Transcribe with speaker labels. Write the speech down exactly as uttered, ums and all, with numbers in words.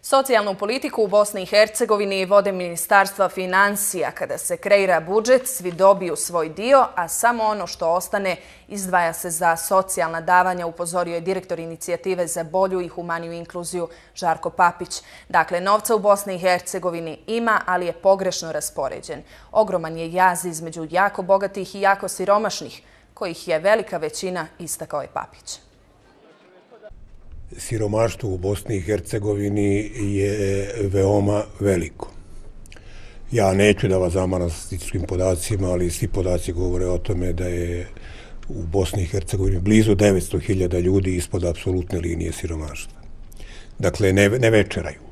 Speaker 1: Socijalnu politiku u Bosni i Hercegovini vode Ministarstva financija. Kada se kreira budžet, svi dobiju svoj dio, a samo ono što ostane izdvaja se za socijalna davanja, upozorio je direktor inicijative za bolju i humaniju inkluziju Žarko Papić. Dakle, novca u Bosni i Hercegovini ima, ali je pogrešno raspoređen. Ogroman je jaz između jako bogatih i jako siromašnih, kojih je velika većina, istakao je Papić.
Speaker 2: Siromaštvo u Bosni i Hercegovini je veoma veliko. Ja neću da vas zamaram statističkim podacima, ali svi podaci govore o tome da je u Bosni i Hercegovini blizu devetsto hiljada ljudi ispod apsolutne linije siromaštva. Dakle, ne, ne večeraju.